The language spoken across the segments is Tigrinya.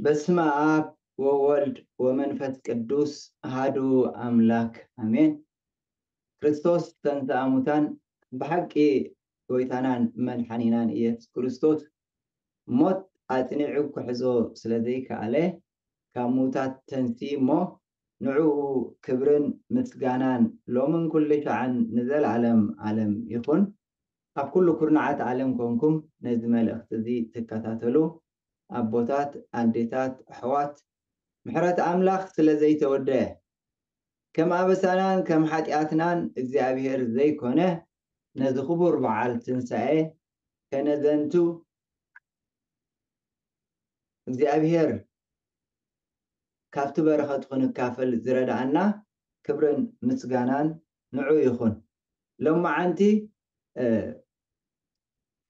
በስመ ኣብ ወወልድ ወመንፈስ ቅዱስ ኣሃዱ ኣምላክ ኣሜን። ክርስቶስ ተንሥአ እሙታን፣ ብሓቂ ጎይታናን መድሓኒናን ኢየሱስ ክርስቶስ ሞት ኣጽኒዑ ክሕዞ ስለ ዘይከኣለ፣ ካብ ምዉታት ተንሲ እሞ ንዕኡ ክብርን ምስጋናን ሎምን ኩሉ ሻዕን ንዘለዓለም ዓለም ይኹን። ኣብ ኩሉ ኩርናዓት ዓለም ኮንኩም ነዚ መልእኽቲ እዚ ትከታተሉ ኣቦታት፣ ኣዴታት፣ ኣሕዋት፣ ምሕረት ኣምላኽ ስለ ዘይተወደአ፣ ከም ኣበሳናን ከም ሓጢኣትናን እግዚኣብሔር ዘይኮነ፣ ነዚ ክቡር በዓል ትንሳኤ ከነዘንቱ እግዚኣብሔር ካብቲ በረኸት ክንካፈል ዝረድኣና ክብርን ምስጋናን ንዑ ይኹን። ሎማዓንቲ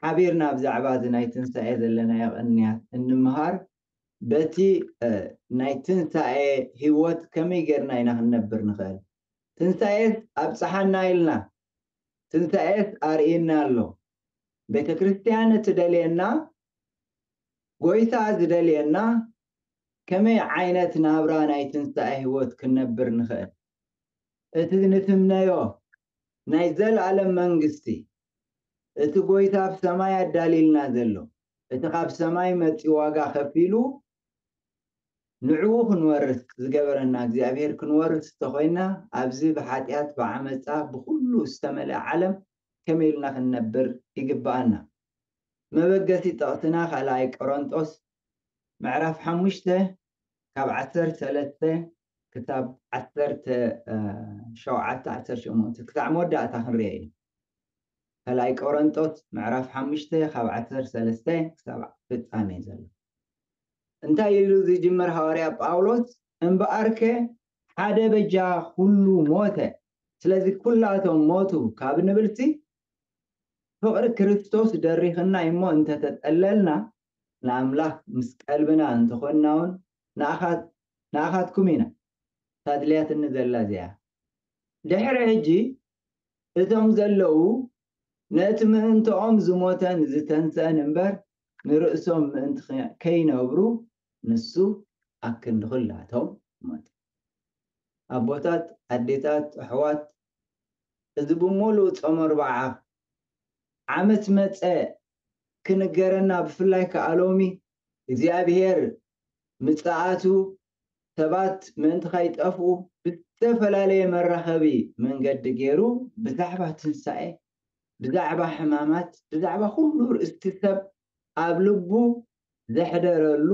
ሓቢርና ብዛዕባ እዚ ናይ ትንሳኤ ዘለናዮ ቅንያት እንምሃር፣ በቲ ናይ ትንሳኤ ህይወት ከመይ ጌርና ኢና ክንነብር ንኽእል? ትንሳኤስ ኣብጽሓና ኢልና፣ ትንሳኤስ ኣርእየና ኣሎ። ቤተ ክርስቲያን እትደልየና፣ ጎይታ ዝደልየና፣ ከመይ ዓይነት ናብራ ናይ ትንሳኤ ህይወት ክንነብር ንኽእል? እቲ ንትምነዮ ናይ ዘለኣለም መንግስቲ፣ እቲ ጎይታ ኣብ ሰማይ ኣዳልይልና ዘሎ፣ እቲ ካብ ሰማይ መጺኡ ዋጋ ከፊሉ ንዕኡ ክንወርስ ዝገበረና እግዚኣብሔር ክንወርስ እንተኾይና፣ ኣብዚ ብሓጢኣት፣ ብዓመፃ፣ ብኩሉ ዝተመልአ ዓለም ከመይ ኢልና ክንነብር ይግብኣና? መበገሲ ጥቕስና ካልኣይ ቆሮንጦስ ምዕራፍ ሓሙሽተ ካብ ዓሰርተ ሰለስተ ክሳብ ዓሰርተ ሸውዓተ፣ ዓሰርተ ሸሞንተ ክሳብ መወዳእታ ክንሪኦ ኢና። ካልኣይ ቆሮንጦስ ምዕራፍ ሓሙሽተ ካብ ዓሰርተ ሰለስተ ክሳብ ፍጻሜ ዘሎ። እንታይ ኢሉ ዝጅምር ሃዋርያ ጳውሎስ? እምበኣርከ ሓደ በጃ ኩሉ ሞተ፣ ስለዚ ኩላቶም ሞቱ ካብ ንብልሲ ፍቕሪ ክርስቶስ ደሪኽና እሞ እንተተጠለልና ንኣምላኽ ምስ ቀልብና እንተኾንና እውን ንኣኻት-፣ ንኣኻትኩም ኢና። ታድልያትኒ ዘላ እዚኣ። ድሕሪ ሕጂ እቶም ዘለዉ ነቲ ምእንትኦም ዝሞተን ዝተንስአን እምበር ንርእሶም ምእንቲ ከ-፣ ከይነብሩ ንሱ ኣክንዲ ኩላቶም ሞተ። ኣቦታት፣ ኣዴታት፣ ኣሕዋት፣ እዚ ብምሉእ ጾም ኣርብዓ ዓመት መጸ ክንገረና፣ ብፍላይ ከኣ ሎሚ እግዚኣብሔር ምጽኣቱ ሰባት ምእንቲ ከይጠፍኡ ብዝተፈላለየ መራኸቢ መንገዲ ገይሩ ብዛዕባ ትንሳኤ፣ ብዛዕባ ሕማማት፣ ብዛዕባ ኩሉ ርእስቲ ሰብ ኣብ ልቡ ዘሕደረሉ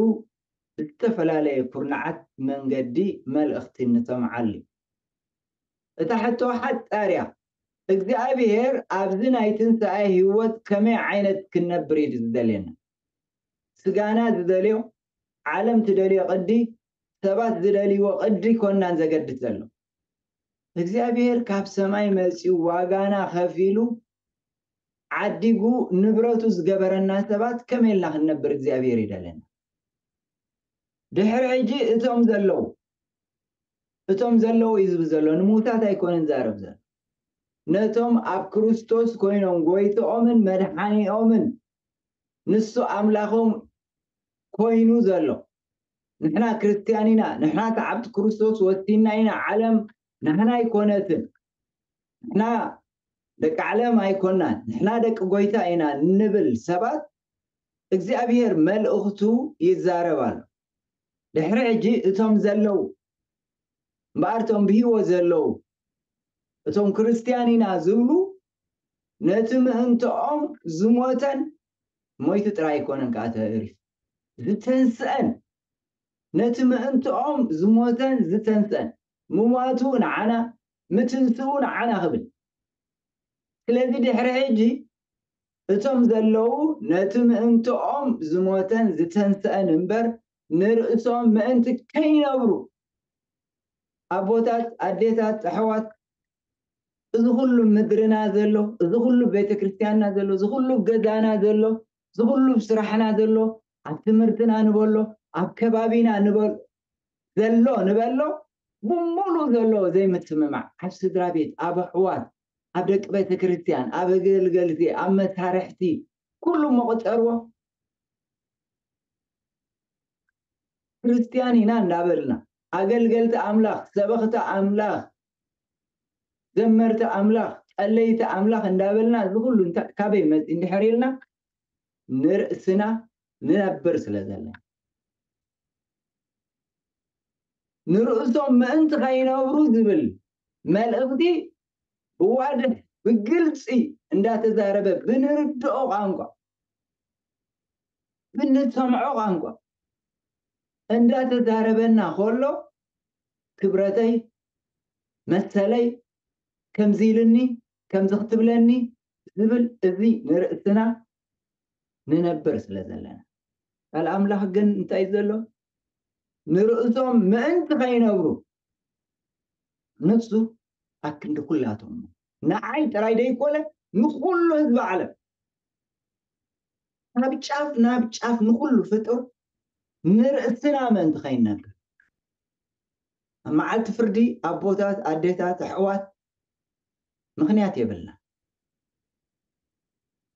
ብዝተፈላለየ ኩርናዓት መንገዲ መልእኽቲ ንሰምዓሉ። እታ ሕቶ ሓጻር እያ። እግዚኣብሔር ኣብዚ ናይ ትንሳኤ ህይወት ከመይ ዓይነት ክንነብር እዩ ዝደልየና? ስጋና ዝደልዮ፣ ዓለም ትደልዮ ቅዲ፣ ሰባት ዝደልይዎ ቅዲ ኮናን ዘገድስ ዘሎ። እግዚኣብሔር ካብ ሰማይ መጺኡ ዋጋና ከፊሉ ዓዲጉ ንብረቱ ዝገበረና ሰባት ከመይ ኢልና ክንነብር እግዚኣብሔር ይደለና? ድሕሪ ሕጂ እቶም ዘለዉ፣ እቶም ዘለዉ እዩ ዝብል ዘሎ፣ ንምውታት ኣይኮነን ዛረብ ዘሎ። ነቶም ኣብ ክርስቶስ ኮይኖም ጎይትኦምን መድሓኒኦምን ንሱ ኣምላኾም ኮይኑ ዘሎ። ንሕና ክርስትያን ኢና፣ ንሕና ሰዓብቲ ክርስቶስ ወሲና ኢና፣ ዓለም ንሕና ኣይኮነትን። ንሕና ደቂ ዓለም ኣይኮናን፣ ንሕና ደቂ ጎይታ ኢና ንብል ሰባት እግዚኣብሔር መልእኽቱ ይዛረብ ኣሎ። ድሕሪ ሕጂ እቶም ዘለዉ እምበኣር እቶም ብህይወት ዘለዉ እቶም ክርስትያን ኢና ዝብሉ ነቲ ምእንትኦም ዝሞተን ሞይቱ ጥራይ ኣይኮነን ከኣ ተሪፉ ዝተንስአን ነቲ ምእንትኦም ዝሞተን ዝተንስአን ምሟቱ ንዓና ምትንስኡ ንዓና ክብል። ስለዚ ድሕሪ ሕጂ እቶም ዘለዉ ነቲ ምእንትኦም ዝሞተን ዝተንስአን እምበር ንርእሶም ምእንቲ ከይነብሩ ኣቦታት፣ ኣዴታት፣ ኣሕዋት፣ እዚ ኩሉ ምድርና ዘሎ፣ እዚ ኩሉ ቤተ ክርስቲያንና ዘሎ፣ እዚ ኩሉ ገዛና ዘሎ፣ እዚ ኩሉ ስራሕና ዘሎ፣ ኣብ ትምህርትና ንበሎ፣ ኣብ ከባቢና ንበሎ፣ ዘሎ ንበሎ፣ ብምሉእ ዘሎ ዘይምትምማዕ፣ ኣብ ስድራ ቤት፣ ኣብ ኣሕዋት፣ ኣብ ደቂ ቤተ ክርስቲያን፣ ኣብ ኣገልገልቲ፣ ኣብ መሳርሕቲ፣ ኩሉ መቆጸርዎ። ክርስትያን ኢና እንዳበልና፣ ኣገልገልቲ ኣምላኽ፣ ሰበኽቲ ኣምላኽ፣ ዘመርቲ ኣምላኽ፣ ጸለይቲ ኣምላኽ እንዳበልና፣ እዚ ኩሉ እንታ-፣ ካበይ መጽእ እንድሕር ኢልና፣ ንርእስና ንነብር ስለ ዘለና። ንርእሶም ምእንቲ ከይነብሩ ዝብል መልእኽቲ ብዋድሕ ብግልጺ እንዳተዛረበ፣ ብንርድኦ ቋንቋ፣ ብንሰምዖ ቋንቋ እንዳተዛረበና ከሎ፣ ክብረተይ፣ መሰለይ፣ ከምዚ ኢልኒ፣ ከምዚ ክትብለኒ ዝብል፣ እዚ ንርእስና ንነብር ስለ ዘለና። ቃል ኣምላኽ ግን እንታይ ዘሎ? ንርእሶም ምእንቲ ከይነብሩ፣ ንሱ ኣክንዲ ኩላቶም፣ ንዓይ ጥራይ ደይኮነ፣ ንኹሉ ህዝቢ ዓለም፣ ካብ ጫፍ ናብ ጫፍ፣ ንኹሉ ፍጡር፣ ንርእስና ምእንቲ ከይነብር። ኣብ መዓልቲ ፍርዲ፣ ኣቦታት፣ ኣዴታት፣ ኣሕዋት፣ ምኽንያት የብልና።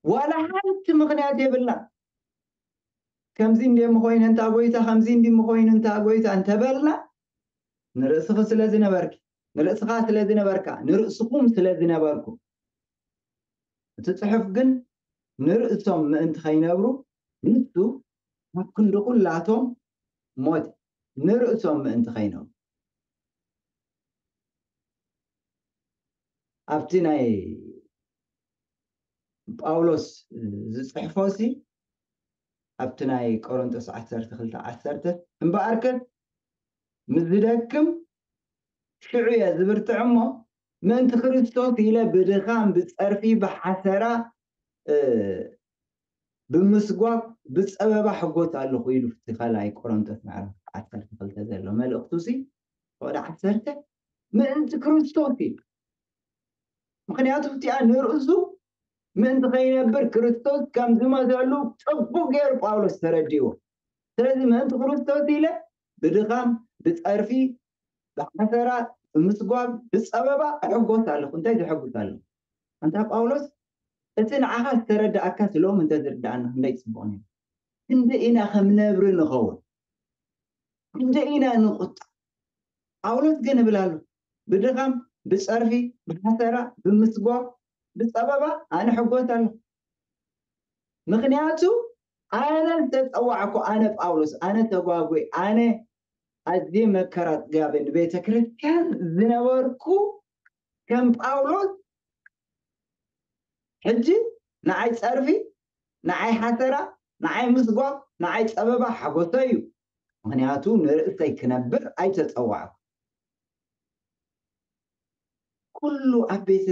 ዋላ ሓንቲ ምኽንያት የብልና። ከምዚ እንደ ምኾይነ እንታ ጎይታ፣ ከምዚ እንዲ ምኾይኑ እንታ ጎይታ እንተበልና፣ ንርእስኺ ስለ ዝነበርኪ፣ ንርእስኻ ስለ ዝነበርካ፣ ንርእስኹም ስለ ዝነበርኩ። እቲ ጽሑፍ ግን፣ ንርእሶም ምእንቲ ከይነብሩ፣ ንሱ ኣብ ክንዲ ኩላቶም ሞተ። ንርእሶም ምእንቲ ከይነብሩ። ኣብቲ ናይ ጳውሎስ ዝጽሕፎ ሲ፣ ኣብቲ ናይ ቆሮንቶስ ዓሰርተ ክልተ ዓሰርተ፣ እምበኣርከ ምስ ዝደክም ሽዑ እየ ዝብርትዕ እሞ፣ ምእንቲ ክርስቶስ ኢለ ብድኻም፣ ብጸርፊ፣ ብሓሰራ፣ እ፣ ብምስጓግ፣ ብጸበባ ሕጎስ ኣለኹ ኢሉ፣ እቲ ካልኣይ ቆሮንቶስ ምዕራፍ ዓሰርተ ክልተ ዘሎ መልእኽቱ ሲ፣ ወደ ዓሰርተ፣ ምእንቲ ክርስቶስ ኢሉ። ምኽንያቱ እቲኣ ንርእሱ ምእንቲ ከይነብር ክርስቶስ ከም ዝመተሉ ጽቡቕ ገይሩ ጳውሎስ ተረዲእዎ። ስለዚ ምእንቲ ክርስቶስ ኢለ ብድኻም፣ ብጸርፊ፣ ብሓሰራ፣ ብምስጓግ፣ ብጸበባ እሕጎስ ኣለኹ። እንታይ ዘሐጉስ ኣለኹ? ኣንታ ጳውሎስ፣ እቲ ንዓኻ ዝተረዳእካ ስሎም እንተዝርዳእና ክንደይ ጽቡቕ ነይሩ። ክንደይ ኢና ከም ነብሪ ንኸውን? ክንደይ ኢና ንቑጣ? ጳውሎስ ግን እብል ኣሎ፣ ብድኻም፣ ብጸርፊ፣ ብሓሰራ፣ ብምስጓግ፣ ብጸበባ ኣነ ሕጎስ ኣለኹ። ምኽንያቱ ኣነ ዝተጸዋዕኩ፣ ኣነ ጳውሎስ፣ ኣነ ተጓጉይ፣ ኣነ ኣዝየ መከራ ኣጽጋቢ ንቤተ ክርስቲያን ዝነበርኩ ከም ጳውሎስ፣ ሕጂ ንዓይ ጸርፊ፣ ንዓይ ሓሰራ፣ ንዓይ ምስጓግ፣ ንዓይ ጸበባ ሓጎሰ እዩ። ምኽንያቱ ንርእሰይ ክነብር ኣይተጸዋዕኩ። ኩሉ ኣብ ቤተ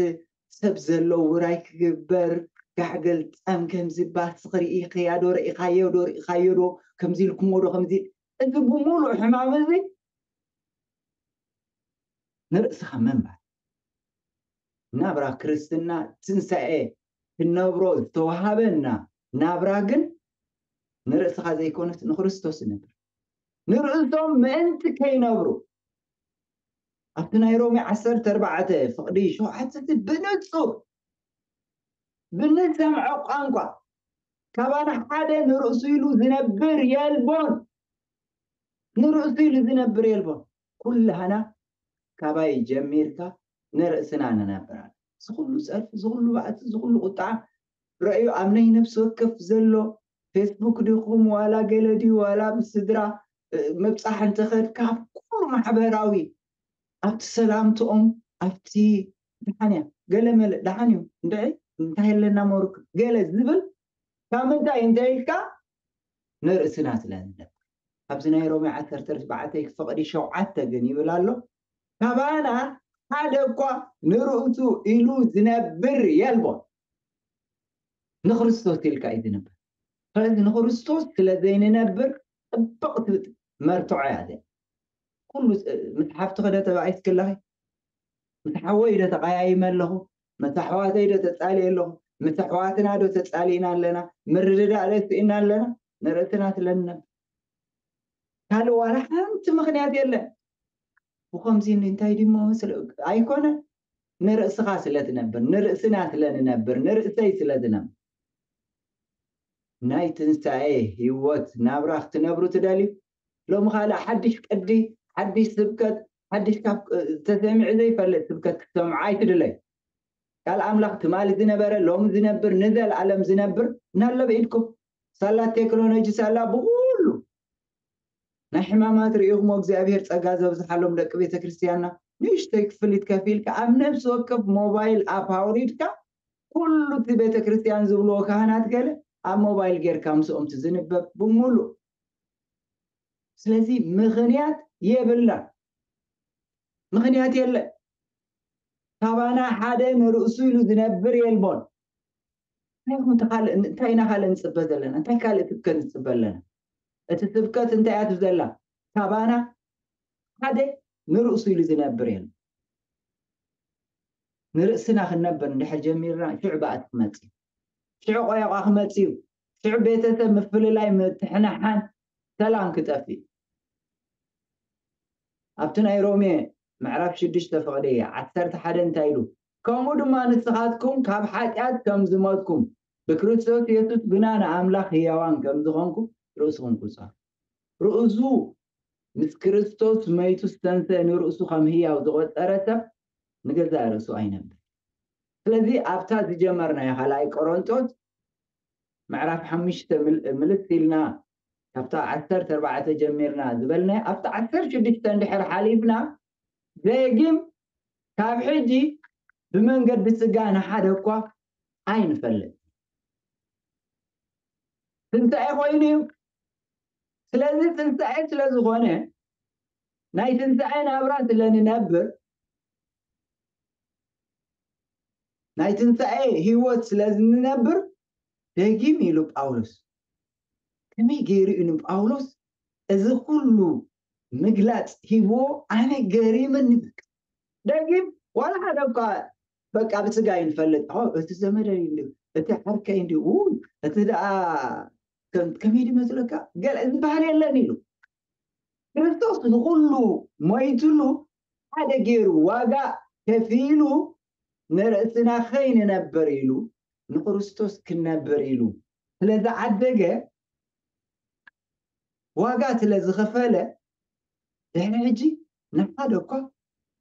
ሰብ ዘሎ ውራይ ክግበር፣ ጋሕገል ጸም ከምዚ ባስ ክርኢ፣ ኸያዶ ርኢኻዮ ዶ፣ ርኢኻዮ ዶ፣ ከምዚ ኢልኩሞ ዶ፣ ከምዚ፣ እዚ ብምሉእ ሕማም እዚ ንርእስኻ ምንባር። ናብራ ክርስትና ትንሳኤ ክንነብሮ ዝተዋሃበና ናብራ ግን ንርእስኻ ዘይኮነት ንክርስቶስ ይነብር። ንርእሶም ምእንቲ ከይነብሩ፣ ኣብቲ ናይ ሮሜ ዓሰርተ ኣርባዕተ ፍቕዲ ሸውዓተ እቲ ብንጹር ብንሰምዖ ቋንቋ፣ ካባና ሓደ ንርእሱ ኢሉ ዝነብር የልቦን። ንርእሱ ኢሉ ዝነብር የልቦን። ኩላህና ካባይ ጀሚርካ ንርእስና ንነብር ኣለና። እዚ ኩሉ ጸርፊ፣ እዚ ኩሉ ባእሲ፣ እዚ ኩሉ ቁጥዓ ረእዩ ኣብ ናይ ነፍሲ ወከፍ ዘሎ ፌስቡክ ዲኹም ዋላ ገለ ድዩ ዋላ ብስድራ፣ እ፣ ምብጻሕ እንተኸድካ ኣብ ኩሉ ማሕበራዊ፣ ኣብቲ ሰላምትኦም፣ ኣብቲ ደሓን እያ፣ ገለ መለ ደሓን እዩ፣ እንድዒ እንታይ ኣለና መሩክ ገለ ዝብል ካብ ምንታይ እንተ ኢልካ ንርእስና ስለ ንነብር። ኣብዚ ናይ ሮሜ ዓሰርተ ኣርባዕተ ፍቕዲ ሸውዓተ ግን ይብል ኣሎ፣ ካባና ሓደ እኳ ንርእሱ ኢሉ ዝነብር የልቦን። ንክርስቶስ ኢልካ እዩ ዝነብር። ስለዚ ንክርስቶስ ስለ ዘይንነብር ጽብቕቲ መርትዖ እያ እዚኣ። ኩሉ፣ ምስ ሓፍትኺ ዶ ተባኢስኪ ኣለኺ? ምስ ሓወይ ዶ ተቐያይመ ኣለኹ? ምስ ኣሕዋተይ ዶ ተጻልየ ኣለኹ? ምስ ኣሕዋትና ዶ ተጻሊእና ኣለና? ምርድዳእ ዶ ስኢና ኣለና? ንርእስና ስለ ንነብር። ካልእ ዋላ ሓንቲ ምኽንያት የለን። ብኸምዚ እንታይ ድሞ ስለ ኣይኮነ፣ ንርእስኻ ስለ ትነብር፣ ንርእስና ስለ ንነብር፣ ንርእሰይ ስለ ዝነብር። ናይ ትንሳኤ ህይወት ናብራ ክትነብሩ ትደልዩ? ሎሚ ካልእ ሓድሽ ቅዲ፣ ሓድሽ ስብከት፣ ሓድሽ ካብ ተሰሚዑ ዘይፈልጥ ስብከት ክትሰምዑ ኣይትድለዩ። ቃል ኣምላኽ ትማሊ ዝነበረ፣ ሎሚ ዝነብር፣ ንዘለኣለም ዝነብር እናሎ ብኢድኩም። ሳላ ቴክኖሎጂ፣ ሳላ ብኩሉ ናይ ሕማማት ርኢኹሞ እግዚኣብሔር ጸጋ ዘብዝሓሎም ደቂ ቤተ ክርስቲያንና። ንእሽተይ ክፍሊት ከፊልካ ኣብ ነፍሲ ወከፍ ሞባይል ኣፕ ኣውሪድካ ኩሉ እቲ ቤተ ክርስቲያን ዝብልዎ ካህናት ገለ ኣብ ሞባይል ጌርካ ምስኦም ትዝንበብ ብምሉእ። ስለዚ ምኽንያት የብልና፣ ምኽንያት የለ። ካባና ሓደ ንርእሱ ኢሉ ዝነብር የልቦን። እንታይ ካልእ፣ እንታይ ኢና ካልእ ንጽበ ዘለና? እንታይ ካልእ ስብከት ንጽበ ኣለና? እቲ ስብከት እንታይ እያ ትብዘላ? ካባና ሓደ ንርእሱ ኢሉ ዝነብር የለን። ንርእስና ክንነብር እንድሕር ጀሚርና፣ ሽዑ ባእቲ ክመጽእ እዩ። ሽዑ ቆያቋ ክመጽእ እዩ። ሽዑ ቤተሰብ ምፍልላይ፣ ምትሕንሓን፣ ሰላም ክጠፍእ እዩ። ኣብቲ ናይ ሮሜ ምዕራፍ ሽዱሽተ ፍቕዲ ዓሰርተ ሓደ እንታይ ኢሉ? ከምኡ ድማ ንስኻትኩም ካብ ሓጢኣት ከም ዝሞትኩም ብክርስቶስ የሱስ ግና ንኣምላኽ ህያዋን ከም ዝኾንኩም ርእስኹም ቁጸሩ። ርእሱ ምስ ክርስቶስ መይቱ ዝተንሰ ንርእሱ ከም ህያው ዝቖጸረ ሰብ ንገዛእ ርእሱ ኣይነብር። ስለዚ ኣብታ ዝጀመርናዮ ካልኣይ ቆሮንቶስ ምዕራፍ ሓሙሽተ ምል-፣ ምልስ ኢልና ካብታ ዓሰርተ ኣርባዕተ ጀሚርና ዝበልናዮ ኣብታ ዓሰርተ ሽዱሽተ እንድሕር ሓሊፍና ደጊም ካብ ሕጂ ብመንገዲ ስጋ ንሓደ እኳ ኣይንፈልጥ። ትንሳኤ ኮይኑ እዩ። ስለዚ ትንሳኤ ስለ ዝኾነ ናይ ትንሳኤ ናብራ ስለ ንነብር ናይ ትንሳኤ ህይወት ስለ ዝንነብር ደጊም ኢሉ ጳውሎስ። ከመይ ገይሩ እዩ ንጳውሎስ እዚ ኩሉ ምግላጽ ሂብዎ? ኣነ ገሪምኒ። በቃ ደጊም ዋላ ሓደ እኳ በቃ ብስጋ ይንፈልጥ፣ ኦ፣ እቲ ዘመደይ እንዲ፣ እቲ ዓርከይ እንዲ፣ ው፣ እቲ ደኣ ከም-፣ ከመይ ድመስለካ? ገለ ዝበሃል የለን ኢሉ። ክርስቶስ ንኹሉ ሞይትሉ ሓደ ገይሩ ዋጋ ከፊሉ ንርእስና ከይንነብር ኢሉ ንክርስቶስ ክንነብር ኢሉ ስለ ዝዓደገ ዋጋ ስለ ዝኸፈለ ድሕሪ ሕጂ ንሓደ እኳ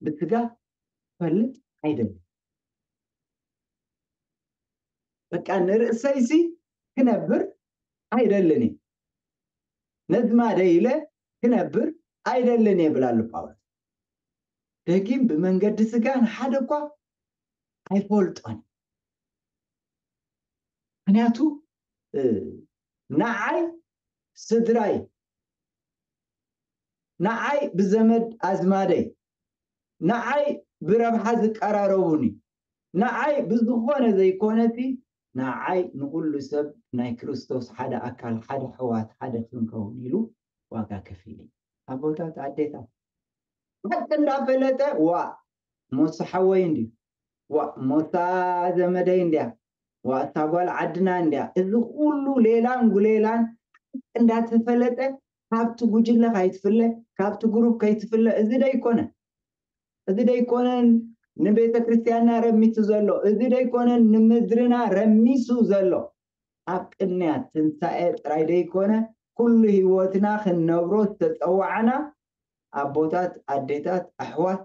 ብስጋ ፈልጥ ኣይደልን። በቃ ንርእሰይሲ ክነብር ኣይደልን እየ። ነዝማደይ ኢለ ክነብር ኣይደልን እየ ብላ ኣሎ ጳውሎስ። ደጊም ብመንገዲ ስጋ ንሓደ እኳ ኣይፈልጦን። ምክንያቱ፣ እ፣ ንዓይ ስድራይ፣ ንዓይ ብዘመድ ኣዝማደይ፣ ንዓይ ብረብሓ ዝቀራረቡኒ፣ ንዓይ ብዝኾነ ዘይኮነሲ፣ ንዓይ ንኹሉ ሰብ ናይ ክርስቶስ ሓደ ኣካል፣ ሓደ ሕዋት፣ ሓደ ክንከውን ኢሉ ዋጋ ከፊሉ። ኣቦታት፣ ኣዴታት፣ ሓቂ እንዳፈለጠ፣ ዋ፣ ሞሳ ሓወይ እንድዩ፣ ዋ፣ ሞሳ ዘመደይ እንድያ፣ ዋ፣ እታ ጓል ዓድና እንድያ። እዚ ኩሉ ሌላን ጉሌላን ሓቂ እንዳተፈለጠ ካብቲ ጉጅለ ከይትፍለ፣ ካብቲ ግሩፕ ከይትፍለ፣ እዚ ደይኮነ። እዚ ደይኮነን ንቤተ ክርስቲያንና ረሚሱ ዘሎ፣ እዚ ደይኮነን ንምድርና ረሚሱ ዘሎ። ኣብ ቅንያት ትንሳኤ ጥራይ ደይኮነ፣ ኩሉ ህይወትና ክንነብሮ ዝተጸዋዕና ኣቦታት፣ ኣዴታት፣ ኣሕዋት፣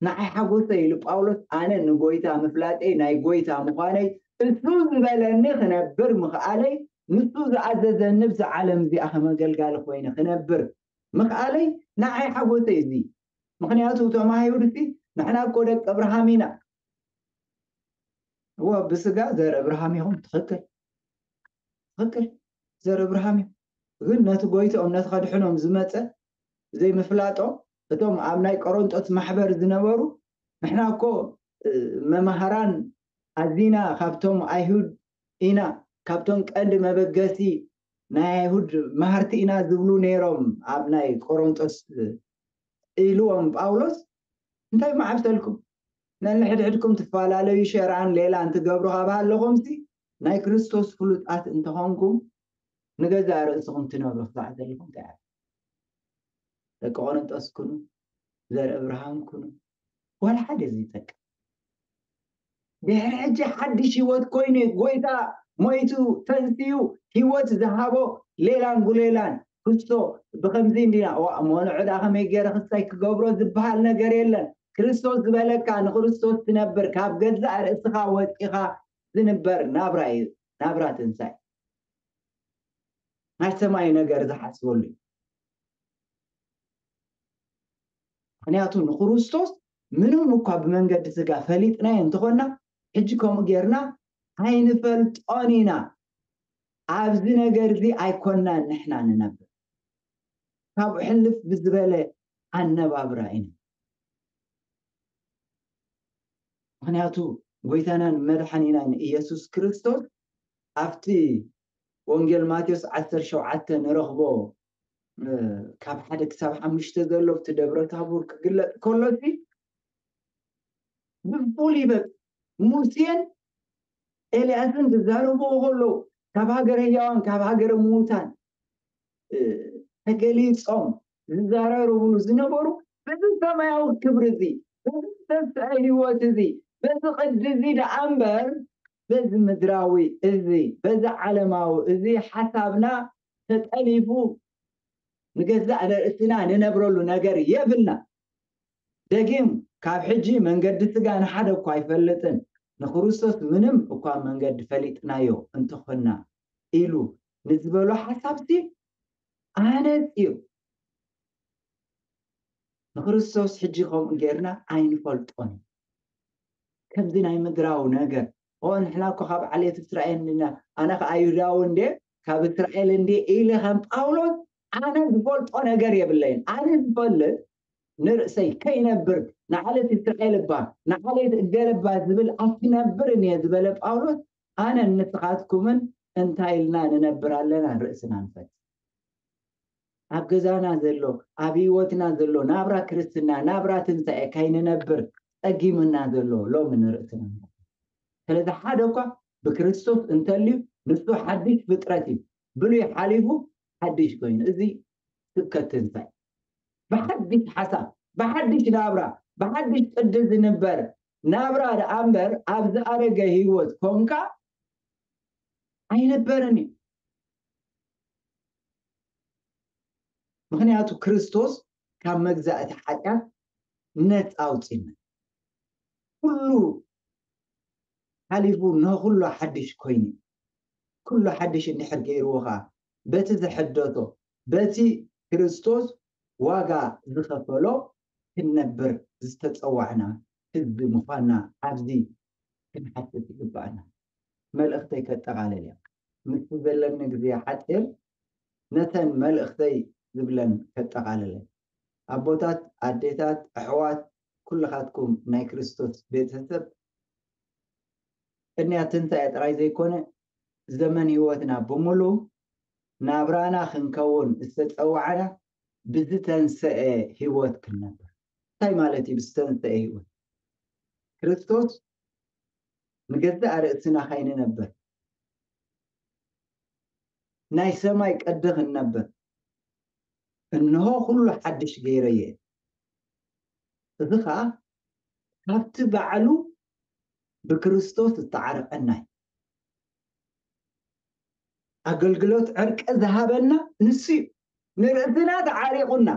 ንዓይ ሓጎሰይ ኢሉ ጳውሎስ፣ ኣነ ንጎይታ ምፍላጠይ፣ ናይ ጎይታ ምዃነይ፣ እሱ ዝበለኒ ክነብር ምኽኣለይ፣ ንሱ ዝኣዘዘኒ ብዛ ዓለም እዚኣ ከም ኣገልጋሊ ኮይነ ክነብር ምኽኣለይ ንዓይ ሓጎሰይ እዚ። ምኽንያቱ እቶም ኣይሁድሲ ንሕና እኮ ደቂ እብርሃም ኢና። እወ፣ ብስጋ ዘር እብርሃም ኢኹም። ትኽክል፣ ትኽክል፣ ዘር እብርሃም እዩ። ግን ነቲ ጎይትኦም፣ ነቲ ከድሕኖም ዝመጸ ዘይምፍላጦም፣ እቶም ኣብ ናይ ቆሮንጦስ ማሕበር ዝነበሩ፣ ንሕና እኮ፣ እ፣ መማህራን ኣዚና ካብቶም ኣይሁድ ኢና፣ ካብቶም ቀንዲ መበገሲ ናይ ኣይሁድ መሃርቲ ኢና ዝብሉ ነይሮም ኣብ ናይ ቆሮንጦስ ኢልዎም ጳውሎስ። እንታይ መዓብሰልኩም? ነንሕድሕድኩም ትፈላለዩ ሸርኣን ሌላን ትገብሩ ካብ ኣለኹምሲ፣ ናይ ክርስቶስ ፍሉጣት እንተኾንኩም፣ ንገዛእ ርእስኹም ትነብሩ ክሳዕ ዘለኹም እንታይ ኣለ? ደቂ ቆሮንጦስ ኩኑ፣ ዘር እብርሃም ኩኑ፣ ዋላ ሓደ ዘይጠቅም። ድሕሪ ሕጂ ሓድሽ ህይወት ኮይኑ፣ ጎይታ ሞይቱ ተንስዩ፣ ህይወት ዝሃቦ ሌላን ጉሌላን፣ ክሶ ብኸምዚ እንዲና። ዋ፣ እሞ ንዑ ደኣ ከመይ ገይረ ክሳይ ክገብሮ ዝበሃል ነገር የለን። ክርስቶስ ዝበለካ ንክርስቶስ ትነብር፣ ካብ ገዛእ ርእስኻ ወፂኻ ዝንበር ናብራ እዩ። ናብራ ትንሳኤ ናይ ሰማይ ነገር ዝሓስበሉ እዩ። ምክንያቱ ንክርስቶስ ምንም እኳ ብመንገዲ ስጋ ፈሊጥናዮ እንተኾንና፣ ሕጂ ከምኡ ጌርና ኣይንፈልጦን ኢና። ኣብዚ ነገር እዚ ኣይኮንናን ንሕና ንነብር። ካብኡ ሕልፍ ብዝበለ ኣነባብራ ኢና። ምክንያቱ ጎይታናን መድሓኒናን ኢየሱስ ክርስቶስ ኣብቲ ወንጌል ማቴዎስ ዓሰርተ ሸውዓተ ንረኽቦ፣ እ፣ ካብ ሓደ ክሳብ ሓሙሽተ ዘሎ ኣብቲ ደብረ ታቦር ክግለጽ ከሎሲ ብፉሉይ በቃ ሙሴን ኤልያስን ዝዛረብዎ ከለዉ ካብ ሃገረ ህያዋን ካብ ሃገረ ምዉታን እ፣ ተገሊጾም ዝዛረብሉ ዝነበሩ በዚ ሰማያዊ ክብሪ እዚ፣ በዚ ዝተስአ ህይወት እዚ፣ በዚ ቅዲ እዚ ደኣ እምበር በዚ ምድራዊ እዚ፣ በዚ ዓለማዊ እዚ ሓሳብና ተጠሊፉ ንገዛእ ርእስና ንነብረሉ ነገር የብልና። ደጊም ካብ ሕጂ መንገዲ ስጋ ንሓደ እኳ ኣይፈልጥን፣ ንክርስቶስ ምንም እኳ መንገዲ ፈሊጥናዮ እንተኾንና ኢሉ ንዝበሎ ሓሳብሲ ኣነጺሩ። ንክርስቶስ ሕጂ ከምኡ ጌርና ኣይንፈልጦን። ከምዚ ናይ ምድራዊ ነገር፣ "ኦ፣ ንሕና እኮ ካብ ዓሌት እስራኤል እንዲና፣ ኣነ ከኣ ኣይሁዳዊ እንዴ፣ ካብ እስራኤል እንዴ" ኢለ ከም ጳውሎስ ኣነ ዝፈልጦ ነገር የብለይን። ኣነ ዝፈልጥ ንርእሰይ ከይነብር ንዓሌት እስራኤል እባ ንዓሌት እገለ እባ ዝብል ኣይክነብርን እየ ዝበለ ጳውሎስ፣ ኣነን ንስኻትኩምን እንታይ ኢልና ንነብር ኣለና? ርእስና ንፈልጥ። ኣብ ገዛና ዘሎ፣ ኣብ ህይወትና ዘሎ ናብራ ክርስትና፣ ናብራ ትንሳኤ ከይንነብር ጸጊሙና ዘሎ ሎሚ ንርእስና ንፈልጥ። ስለዚ ሓደ እኳ ብክርስቶስ እንተልዩ ንሱ ሓድሽ ፍጥረት እዩ። ብሉይ ሓሊፉ ሓድሽ ኮይኑ። እዚ ስብከት ትንሳኤ። ብሓድሽ ሓሳብ፣ ብሓድሽ ናብራ፣ ብሓድሽ ቅዲ ዝንበር ናብራ ደኣ እምበር ኣብ ዝኣረገ ህይወት ኮንካ ኣይነበርን እዩ። ምክንያቱ ክርስቶስ ካብ መግዛእቲ ሓጢኣት ነፃ ኣውፂና። ኩሉ ሓሊፉ ንኩሉ ሓድሽ ኮይኑ። ኩሉ ሓድሽ እንድሕር ገይርዎ ኸዓ በቲ ዝሐደሶ፣ በቲ ክርስቶስ ዋጋ ዝኸፈሎ ክንነብር ዝተጸዋዕና ህዝቢ ምዃንና ኣብዚ ክንሓስብ ይግባኣና። መልእኽተይ ከጠቓልል እየ። ምስቲ ዘለኒ ግዜ ሓጺር ነተን መልእኽተይ ዝብለን ከጠቓልል እየ። ኣቦታት፣ ኣዴታት፣ ኣሕዋት፣ ኩልኻትኩም ናይ ክርስቶስ ቤተሰብ፣ ቅንያት ትንሳኤ ጥራይ ዘይኮነ፣ ዘመን ህይወትና ብምሉእ ናብራና ክንከውን ዝተጸዋዕና ብዝተንሰኤ ህይወት ክንነብር። እንታይ ማለት እዩ ብዝተንሰኤ ህይወት? ክርስቶስ ንገዛእ ርእስና ከይንነብር፣ ናይ ሰማይ ቅዲ ክንነብር፣ "እንሆ ኩሉ ሓድሽ ገይረዮ እየ." እዚ ኸኣ ካብቲ ባዕሉ ብክርስቶስ ዝተዓረቐና እዩ። ኣገልግሎት ዕርቂ ዝሃበና ንሱ እዩ። ንርእስና ተዓሪቑና።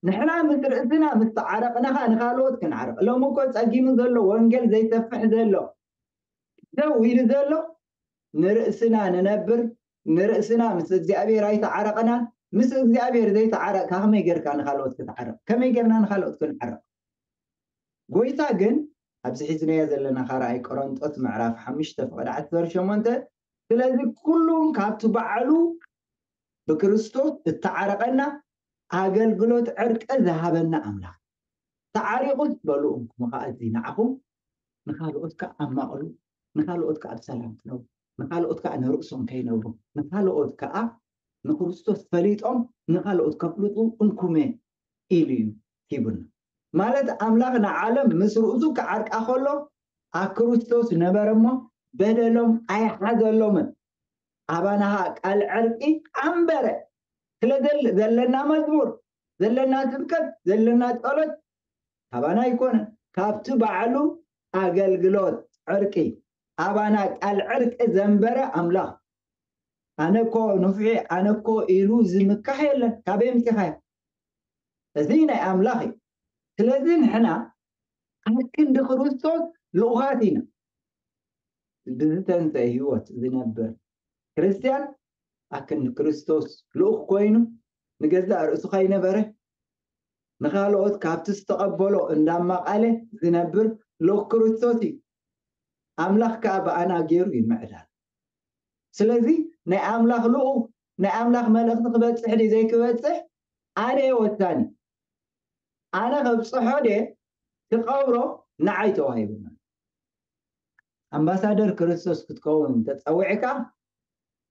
ንሕና ምስ ርእስና ምስ ተዓረቕና ኸኣ ንኻልኦት ክንዓርቕ። ሎሚ እኮ ጸጊሙ ዘሎ፣ ወንጌል ዘይሰፍሕ ዘሎ፣ ደው ኢሉ ዘሎ፣ ንርእስና ንነብር፣ ንርእስና ምስ እግዚኣብሔር ኣይተዓረቕናን። ምስ እግዚኣብሔር ዘይተዓረቕካ ከመይ ጌርካ ንኻልኦት ክትዓረቕ? ከመይ ጌርና ንኻልኦት ክንዓረቕ? ጎይታ ግን ኣብዚ ሒዝናዮ ዘለና ካልኣይ ቆሮንጦስ ምዕራፍ ሓሙሽተ ፍቕዲ ዓሰርተ ሸሞንተ፣ ስለዚ ኩሉ ካብቲ ባዕሉ ብክርስቶስ እተዓረቐና ኣገልግሎት ዕርቂ ዝሃበና ኣምላኽ። ተዓሪቑስ በሉ እንኩም ኸኣ እዚ ንዓኹም ንኻልኦት ከኣ ኣማቕሉ፣ ንኻልኦት ከኣ ብሰላም ክነብሩ፣ ንኻልኦት ከኣ ንርእሶም ከይነብሩ፣ ንኻልኦት ከኣ ንክርስቶስ ፈሊጦም ንኻልኦት ከፍልጡ እንኩመ ኢሉ እዩ ሂቡና። ማለት ኣምላኽ ንዓለም ምስ ርእሱ ክዓርቃ ከሎ ኣብ ክርስቶስ ነበረ እሞ በደሎም ኣይሓዘሎምን። ኣባና ኸኣ ቃል ዕርቂ ኣንበረ። ስለ ዘል-፣ ዘለና መዝሙር፣ ዘለና ስብከት፣ ዘለና ጸሎት ካባና ኣይኮነን። ካብቲ ባዕሉ ኣገልግሎት ዕርቂ፣ ኣባና ቃል ዕርቂ ዘንበረ ኣምላኽ። ኣነ እኮ ንፉዕ፣ ኣነ እኮ ኢሉ ዝምካሕ የለን። ካበይ ምፂኻዮ? እዚ ናይ ኣምላኽ እዩ። ስለዚ ንሕና ኣብ ክንዲ ክርስቶስ ልኡኻት ኢና። ብዝተንሰ ህይወት ዝነብር ክርስትያን ኣብ ክንዲ ክርስቶስ ልኡኽ ኮይኑ ንገዛእ ርእሱ ከይነበረ ንኻልኦት ካብቲ ዝተቐበሎ እንዳማቓለ ዝነብር ልኡኽ ክርስቶስ እዩ። ኣምላኽ ከዓ ብኣና ገይሩ ይምዕዳል። ስለዚ ናይ ኣምላኽ ልኡኽ ናይ ኣምላኽ መልእኽቲ ክበፅሕ ድዩ ዘይክበፅሕ ኣነ እየ ወሳኒ። ኣነ ከብፅሖ ድየ ክቐብሮ ንዓይ ተዋሂቡና። ኣምባሳደር ክርስቶስ ክትከውን ተፀዊዕካ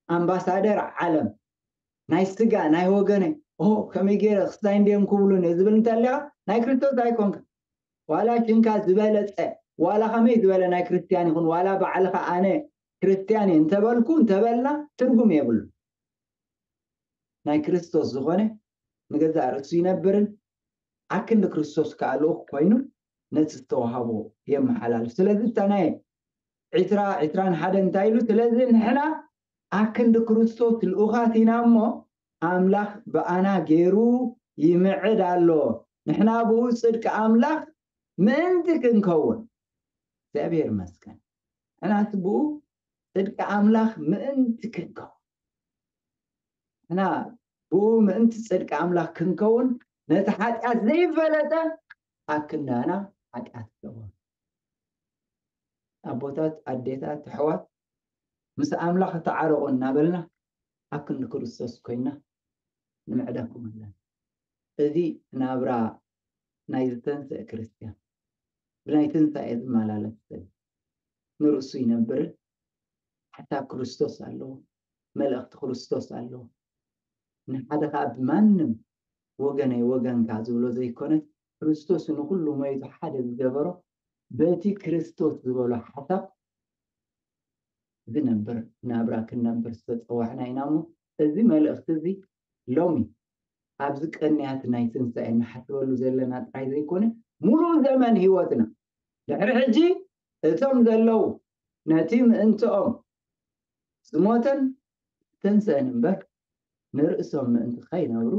ኣምባሳደር ዓለም ናይ ስጋ ናይ ወገነይ ኦ ከመይ ገይረ ክስታይ እንዲዮም ክብሉን እየ ዝብል እንተሊኻ ናይ ክርስቶስ ኣይኮንካ። ዋላ ሽንካ ዝበለፀ ዋላ ከመይ ዝበለ ናይ ክርስትያን ይኹን ዋላ ባዕልኻ ኣነ ክርስትያን እየ እንተበልኩ እንተበልና ትርጉም የብሉ። ናይ ክርስቶስ ዝኾነ ንገዛእ ርእሱ ይነብርን ኣክንዲ ክርስቶስ ከዓ ልኡኽ ኮይኑ ነቲ ዝተዋሃቦ የመሓላልፍ። ስለዚ እታ ናይ ዒስራ ዒስራን ሓደን እንታይ ኢሉ? ስለዚ ንሕና ኣክንዲ ክርስቶስ ልኡኻት ኢና እሞ ኣምላኽ ብኣና ገይሩ ይምዕድ ኣሎ። ንሕና ብኡ ጽድቂ ኣምላኽ ምእንቲ ክንከውን እግዚኣብሔር ይመስገን። ንሕናስ ብኡ ጽድቂ ኣምላኽ ምእንቲ ክንከውን ንሕና ብኡ ምእንቲ ጽድቂ ኣምላኽ ክንከውን ነቲ ሓጢኣት ዘይፈለጠ ኣብ ክንዳና ሓጢኣት ገበሩ። ኣቦታት ኣዴታት ኣሕዋት ምስ ኣምላኽ ተዓረቑ እናበልና ኣብ ክንዲ ክርስቶስ ኮይና ንምዕደኩም ኣለና። እዚ ናብራ ናይ ዝተንስአ ክርስትያን ብናይ ትንሳኤ ዝመላለስ ሰብ ንርእሱ ይነብርን ሓሳብ ክርስቶስ ኣለዎ፣ መልእኽቲ ክርስቶስ ኣለዎ። ንሓደ ከዓ ብማንም ወገነይ ወገንካ ዝብሎ ዘይኮነስ ክርስቶስ ንኩሉ ሞይቱ ሓደ ዝገበሮ በቲ ክርስቶስ ዝበሎ ሓሳብ ዝነብር ናብራ ክንነብር ዝተፀዋዕና ኢና እሞ እዚ መልእኽቲ እዚ ሎሚ ኣብዚ ቀንያት ናይ ትንሳኤ እንሓስበሉ ዘለና ጥራይ ዘይኮነ ሙሉእ ዘመን ህይወትና ድሕሪ ሕጂ እቶም ዘለዉ ነቲ ምእንትኦም ዝሞተን ዝተንስአን እምበር ንርእሶም ምእንቲ ከይነብሩ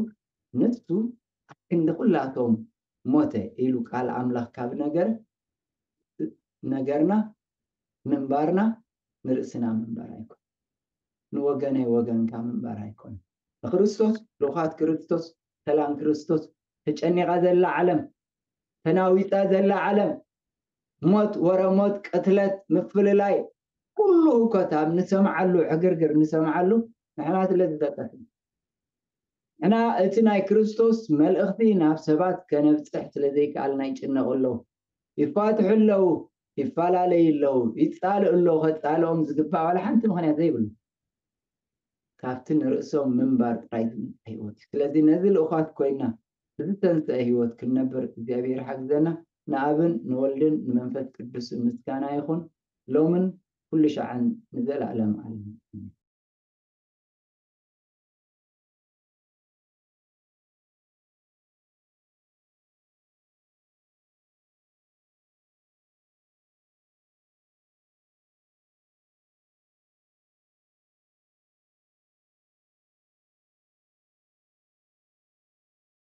ንሱ ኣብ ክንዲ ኩላቶም ሞተ ኢሉ ቃል ኣምላኽ ካብ ነገረ ነገርና ምንባርና ንርእስና ምንባር ኣይኮን ንወገነይ ወገንካ ምንባር ኣይኮን ንክርስቶስ ልኡኻት ክርስቶስ ሰላም ክርስቶስ ተጨኒቓ ዘላ ዓለም ተናዊፃ ዘላ ዓለም ሞት ወረ ሞት ቅትለት ምፍልላይ ኩሉ ህኮት ኣብ ንሰምዓሉ ዕግርግር ንሰምዓሉ ንሕና ስለ ዝጠቀስና ንሕና እቲ ናይ ክርስቶስ መልእኽቲ ናብ ሰባት ከነብፅሕ ስለ ዘይከኣልና ይጭነቑ ኣለዉ ይፋትሑ ኣለዉ ይፈላለዩ ኣለዉ ይፃልኡ ኣለዉ ከፃልኦም ዝግባእ ዋላ ሓንቲ ምኽንያት ዘይብሉ ካብቲ ንርእሶም ምንባር ጥራይ ዝመፀ ህይወት እዩ ስለዚ ነዚ ልኡኻት ኮይና ብዝተንስአ ህይወት ክንነብር እግዚኣብሔር ሓግዘና ንኣብን ንወልድን ንመንፈስ ቅዱስን ምስጋና ይኹን ሎምን ኩሉ ሻዕን ንዘለኣለም ኣለም